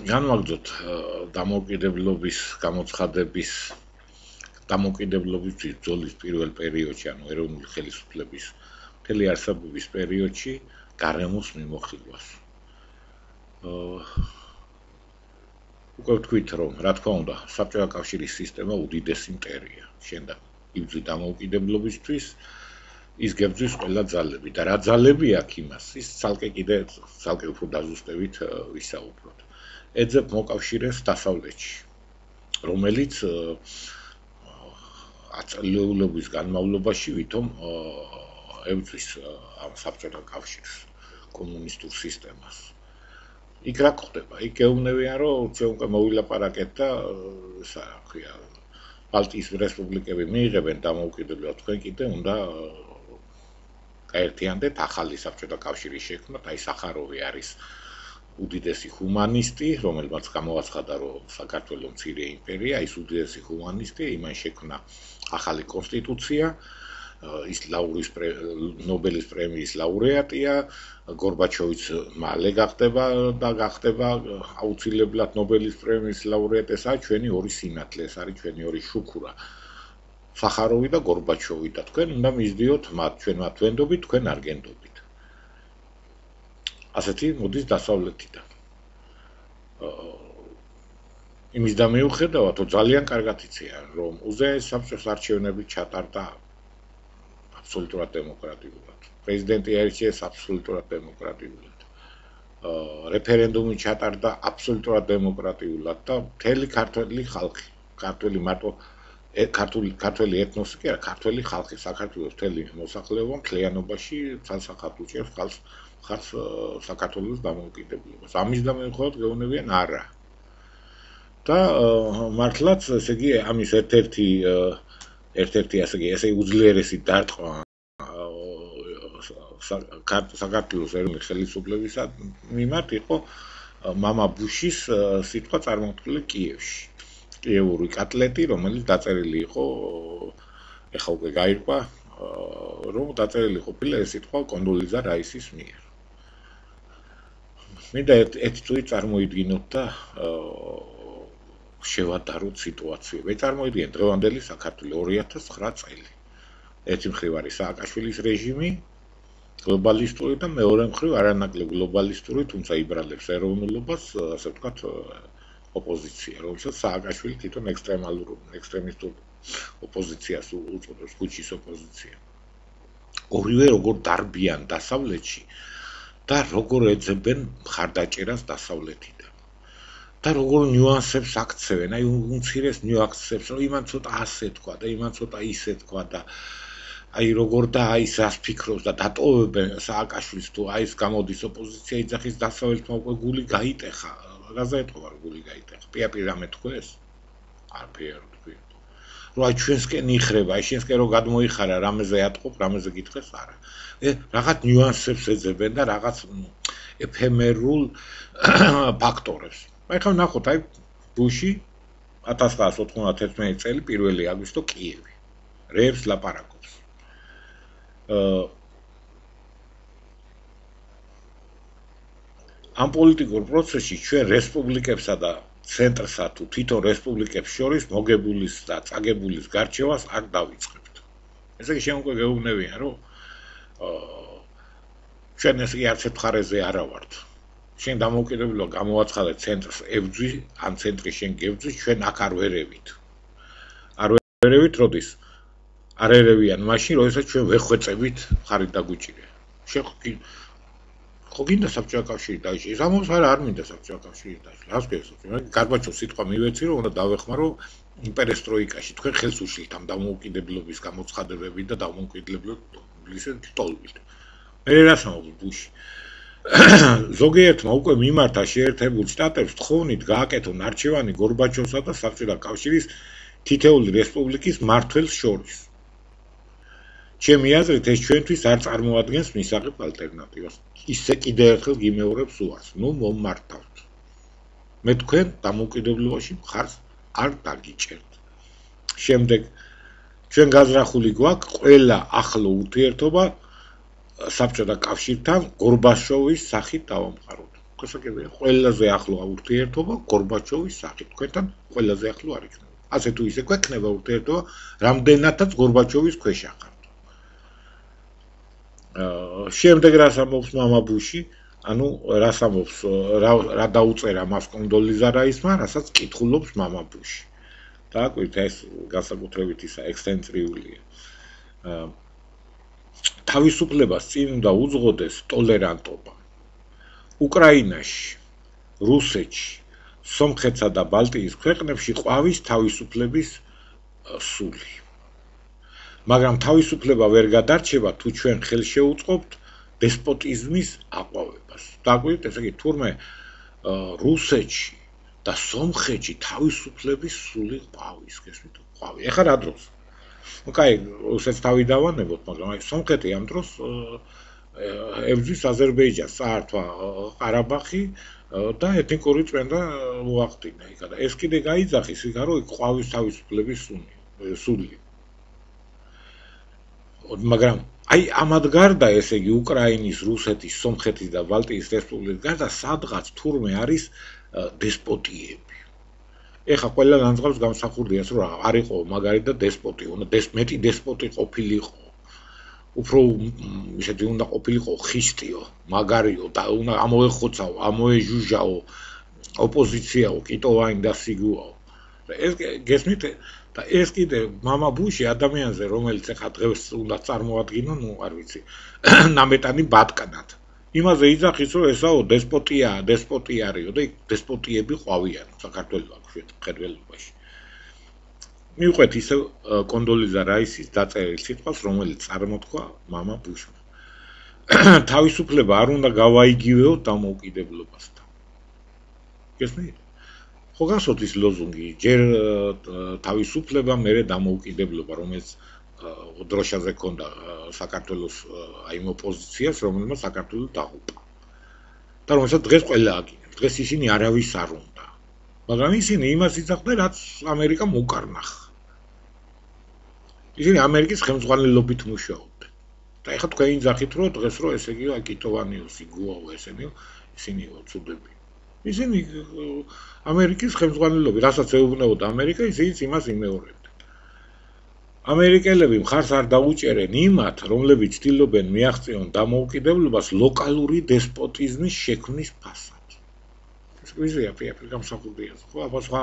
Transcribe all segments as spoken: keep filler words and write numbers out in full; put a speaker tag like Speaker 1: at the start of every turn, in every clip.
Speaker 1: განვაგრძოთ დამოუკიდებლობის გამოცხადების დამოუკიდებლობის ბრძოლის პირველ პერიოდში, ანუ ეროვნული ხელისუფლების მთელი არსებობის პერიოდში გარემოს მიმოხილვას. უკვე ვთქვით, რომ რა თქმა უნდა, საბჭოთა კავშირის სისტემა უდიდესი მტერია. შენდა იბრძვი დამოუკიდებლობისთვის, ის გებძვის ყველა ძალები და რა ძალები აქვს იმას, ის ცალკე კიდე ცალკე უფრო დაზუსტებით ვისაუბროთ. ეძებ მოკავშირეს დასავლეთში, რომელიც აწლეულობის განმავლობაში ვითომ ებძვის ამ საბჭოთა კავშირს, კომუნისტურ სისტემას. იქ რა ხდება? იქ გეუბნებიან, რომ ჩვენ უკვე მოვილაპარაკეთ და ისა რა ქვია, ბალტიის რესპუბლიკები მიიღებენ დამოუკიდებლობას, თქვენ კიდე უნდა გაერთიანდეთ ახალი საბჭოთა კავშირის შექმნით, აი სახაროვი არის უდიდესი ჰუმანისტი, რომელმაც გამოაცხადა, რომ საქართველოს მცირე იმპერია, ის უდიდესი ჰუმანისტი, იმან შექმნა ახალი კონსტიტუცია, ის ლაურის ნობელის პრემიის ლაურეატია, გორბაჩოვიც მალე გახდება და გახდება აუცილებლად ნობელის პრემიის ლაურეატი, ეს არის ჩვენი ორი სინათლე, ეს არის ჩვენი ორი შუქურა. სახაროვი და გორბაჩოვი და თქვენ უნდა მისდიოთ მათ, ჩვენ მათ ვენდობით, თქვენ არ გენდობით. ასეთი მოდის დასავლეთიდან. იმის და მიუხედავად, ძალიან კარგად იციან, რომ უზენაეს საბჭოს არჩევნები ჩატარდა აბსოლუტურად დემოკრატიულად. პრეზიდენტი აირჩიეს აბსოლუტურად დემოკრატიულად. რეფერენდუმი ჩატარდა აბსოლუტურად დემოკრატიულად და მთელი ქართველი ხალხი, ქართველი მარტო ქართული ქართველი ეთნოსი კი არა, ქართველი ხალხი, საქართველოს მთელი მოსახლეობა მთლიანობაში ცალსახად უჭერს ხალხს ხალხს საქართველოს დამოუკიდებლობას. ამის და მიუხედავად გეუბნებიან არა. და მართლაც, ესე იგი, ამის ერთ-ერთი ერთ-ერთი ასე იგი, ესე უძლიერესი დარტყმა საქართველოს ეროვნული ხელისუფლებისა მიმართ იყო მამა ბუშის სიტყვა წარმოთქმული კიევში. კიევური კატლეტი, რომელიც დაწერილი იყო, ეხლა უკვე გაირკვა, რომ დაწერილი ყოფილა ეს სიტყვა კონდოლიზა რაისის მიერ. მინდა ერთი წუთი წარმოიდგინოთ და შევადაროთ სიტუაციები. წარმოიდგინეთ დღევანდელი საქართველო ორი ათას ცხრა წელი. ერთი მხრივ არის სააკაშვილის რეჟიმი, გლობალისტური და მეორე მხრივ არანაკლებ გლობალისტური, თუმცა იბრალებს ეროვნულობას, ასე ვთქვათ, ოპოზიცია, რომელსაც სააკაშვილი თვითონ ექსტრემალურ, ექსტრემისტურ ოპოზიციას უწოდებს, ქუჩის ოპოზიცია. ორივე როგორ დარბიან დასავლეთში და როგორ ეძებენ მხარდაჭერას დასავლეთიდან. და როგორ ნიუანსებს აქცევენ, აი უმცირეს ნიუანსებს, რომ იმან ცოტა ასე თქვა და იმან ცოტა ისე თქვა და აი როგორ და აი რას ფიქრობს და დატოვებენ სააკაშვილს თუ აი ეს გამოდის ოპოზიცია იძახის დასავლეთმა უკვე გული გაიტეხა. რაზე ეთქვა გული გაიტეხა? პიაპირ რამე თქვეს? არაფერ თქვი. რომ აი ჩვენსკენ იხრება, აი შენსკენ რო გადმოიხარა, რამეზე ატყობ, რამეზე გითხეს არა. ე რაღაც ნიუანსებს ეძებენ და რაღაც ეფემერულ ფაქტორებს. აი ხა ნახოთ, აი ბუში ათას ცხრაას ოთხმოცდათერთმეტი წელი პირველი აგვისტო კიევი. რეებს ლაპარაკობს. ამ პოლიტიკურ პროცესში ჩვენ რესპუბლიკებსა და ცენტრსა თუ თვითონ რესპუბლიკებს შორის მოგებულის და წაგებულის გარჩევას არ დავიწყებთ. ესე იგი შენ უკვე გეუბნებიან, რომ ჩვენ ესე იგი არც ერთ მხარეზე არა ვართ. შენ დამოუკიდებლობა გამოაცხადე ცენტრს ებძვი, ან ცენტრი შენ გებძვის, ჩვენ აქ არ ვერევით. არ ვერევით, როდის? არ ერევიან მაშინ, როდესაც ჩვენ ვეხვეწებით მხარით დაგვიჭირე. შენ ხო გინდა საბჭოთა კავშირი დაიჭირეს? ამას არა არ მინდა საბჭოთა კავშირი დაიჭირეს. რას გესწრებით? გარბაჩოვს სიტყვა მივეცი, რომ უნდა დავეხმარო იმპერესტროიკაში. თქვენ ხელს უშლით ამ დამოუკიდებლობის გამოცხადებებით და დამოუკიდებლობის ტოლობით. მე რას ამბობ ბუში? ზოგიერთმა უკვე მიმართა შეერთებულ შტატებს თხოვნით გააკეთონ არჩევანი გორბაჩოვსა და საბჭოთა კავშირის თითეული რესპუბლიკის მმართველს შორის. ჩემი აზრით ეს ჩვენთვის არ წარმოადგენს მისაღებ ალტერნატივას. ისე კიდე ერთხელ გიმეორებს უარს. ნუ მომმართავთ. მე თქვენ დამოუკიდებლობაში მხარს არ დაგიჭერთ. შემდეგ ჩვენ გაზრახული გვაქვს ყველა ახლო ურთიერთობა საბჭოთა კავშირთან გორბაჩოვის სახით დავამყაროთ. შესაძლებელია ყველაზე ახლო ურთიერთობა გორბაჩოვის სახით თქვენთან ყველაზე ახლო არ იქნება ასე თუ ისე გვექნება ურთიერთობა რამდენადაც გორბაჩოვის ქვეშ ახართ აა შემდეგ რას ამბობს მამა ბუში ანუ რას ამბობს რა დაუწერა მას კონდოლიზა რაისმა რასაც კითხულობს მამა ბუში დააკვირთ ეს განსაკუთრებით ისა ექსცენტრიულია აა თავისუფლებას წინ უნდა უძღოდეს ტოლერანტობა უკრაინაში რუსეთში სომხეთსა და ბალტიის ქვეყნებში ყვავის თავისუფლების სული მაგრამ თავისუფლება ვერ გადარჩება თუ ჩვენ ხელშეუწყობთ დესპოტიზმის აყვავებას დაგვით ესე იგი თურმე რუსეთში და სომხეთში თავისუფლების სული ყვავის გესმით ყვავი ეხლა რა დროს ну кай რუსეთს თავი დავანებოთ მაგრამ აი სომხეთი ამ დროს ებრძვის აზერბაიჯანს საერთო ყარაბაღი და ეთნიკური წმენდა მოახდინა იქა და ეს კიდე გაიძახის იქა რომ ყვავის თავისუფლების სული მაგრამ აი ამად გარდა ესე იგი უკრაინის, რუსეთის, სომხეთის და ბალტიის რესპუბლიკის გარდა სადღაც თურმე არის დესპოტიები. ეხლა ყველა განწყობს გამსახურდიას რომ არ იყო მაგარი და დესპოტი, უნდა მეტი დესპოტი ყოფილიყო. უფრო ისეთი უნდა ყოფილიყო ხისტიო, მაგარიო და უნდა ამოეხოცაო, ამოეჟუჟაო ოპოზიციაო, კიტოვანი და სიგუაო. ეს გესმით და ეს კიდე მამა ბუში ადამიანზე რომელიც ახლა დღეს უნდა წარმოადგინო, ну არ ვიცი, ნამეტანი ბატკნად. იმაზე იძახის რომ ესაო დესპოტია, დესპოტი არისო და დესპოტიები ყვავიან საქართველოს მხედველობაში. მივყვეთ ისე კონდოლიზა რაისის დაწერილ სიტყვას, რომელიც წარმოთქვა მამა ბუშმა. თავისუფლება არ უნდა გავაიგივეოთ დამოუკიდებლობასთან. გესმით? ხო გასვოთ ის ლოზუნგი, ჯერ თავისუფლება, მერე დამოუკიდებლობა, რომელიც დროშაზე ქონდა საქართველოს აი იმ ოპოზიციას, რომელმაც საქართველოს დაღუპა. და რომელსაც დღეს ყველა აკინებს. დღეს ისინი არავის არ უნდა. მაგრამ ისინი იმას იძახდნენ, რაც ამერიკამ უკარნახა. ისინი ამერიკის ხელმძღვანელობით მუშაობდნენ. და ეხლა თქვენ იძახით, რომ დღეს რო ესე იგი აკიტოვანიო, სიგუაო ესენიო, ისინიო ცუდები. ისინი ამერიკის ხელმძღვანელობით, რასაც ეუბნებოდა ამერიკა, ისინიც იმას იმეორებდნენ. ამერიკელები მხარს არ დაუჭერენ იმათ, რომლებიც ცდილობენ მიაღწიონ დამოუკიდებლობას ლოკალური დესპოტიზმის შექმნის ფასად. ეს ვიზია პირ გამსახურდია. ხო, აბა სხვა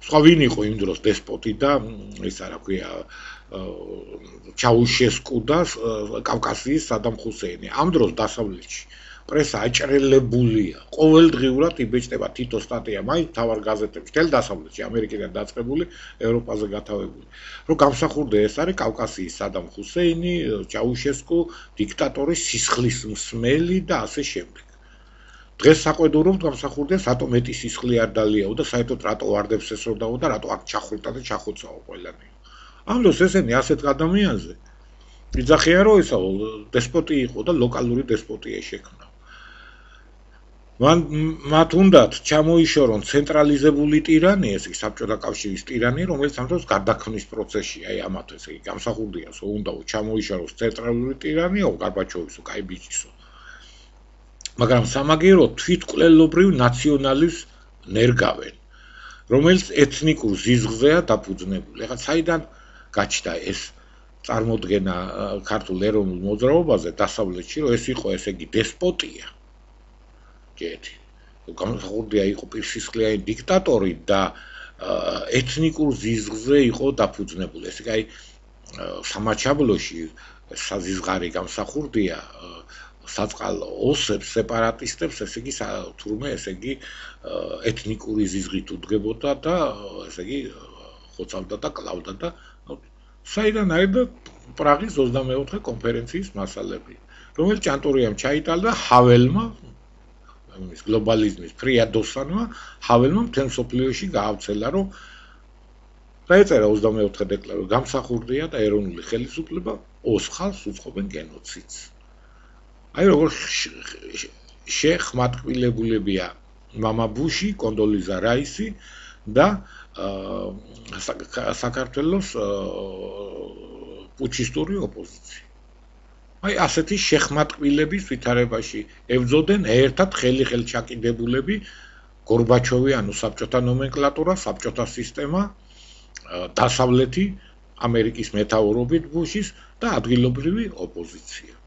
Speaker 1: სხვა ვინ იყო იმ დროს დესპოტი და ის არა ქვია ჩაუშესკუ და კავკასიის სადამ ხუსეინი. ამ დროს დასავლეთში პრესა აჭრელებულია. ყოველდღიურად იბეჭდება თითო სტატია მაინც თავარ გაზეთებში, მთელ დასავლეთში, ამერიკიდან დაწყებული, ევროპაზე გათავებული. რომ გამსახურდა ეს არის კავკასიის სადამ ხუსეინი, ჩაუშესკუ, დიქტატორის სისხლის მსმელი და ასე შემდეგ. დღეს საყვედურობთ გამსახურდა სატო მეტი სისხლი არ დალიაო და საერთოდ რატო ვარდებს ესროდაო და რატო აქ ჩახვრიტა და ჩახოცაო ყველანი. ამ დროს ესენი ასეთ ადამიანზე იძახიან რომ ესა დესპოტი იყო და ლოკალური დესპოტია შექმნა. მან მათ უნდათ ჩამოიშორონ ცენტრალიზებული ტირანია, ეს საბჭოთა კავშირის ტირანია, რომელიც ამ დროს გარდაქმნის პროცესშია, აი ამათ ესე იგი გამსახურდიას უნდა ჩამოიშოროს ცენტრალური ტირანია, გორბაჩოვისო, კაი ბიჭისო. მაგრამ სამაგერო თვითკვლელობრივ ნაციონალიზმს ნერგავენ, რომელიც ეთნიკურ ზიზღზეა დაფუძნებული. ეხლა საიდან გაჩნდა ეს წარმოდგენა ქართულ ეროვნულ მოძრაობაზე დასავლეთში, რომ ეს იყო ესე იგი დესპოტია. ჯეთი. გამსახურდია იყო პირსისხლიანი დიქტატორი და ეთნიკურ ზიზღზე იყო დაფუძნებული. ესე იგი აი სამაჩაბლოში საზიზღარი გამსახურდია საწყალო ოსებს, სეპარატისტებს, ესე იგი თურმე ესე იგი ეთნიკური ზიზღით უდგებოდა და ესე იგი ხოცავდა და კლავდა და საიდან აიდა პრაღის ოცდამეოთხე კონფერენციის მასალები, რომელიც ჭანტურიამ ჩაიტალა და ჰაველმა ის გლობალიზმის ფრიადოსანმა ჰაველმა მთელ მსოფლიოში გაავრცელა, რომ დაეწერა ოცდამეოთხე დეკლარაცია, გამსახურდია და ეროვნული ხელისუფლება ოსხალს უწყობენ გენოციდს. აი როგორ შეხმატკილებულებია მამა ბუში, კონდოლიზა რაისი და საქართველოს პუჩისტური ოპოზიცია. აი ასეთი შეხმატკბილების ვითარებაში ებრძოდნენ ერთად ხელი-ხელ ჩაკიდებულები გორბაჩოვი, ანუ საბჭოთა ნომენკლატურა, საბჭოთა სისტემა, დასავლეთი ამერიკის მეთაურობით ბუშის და ადგილობრივი ოპოზიცია.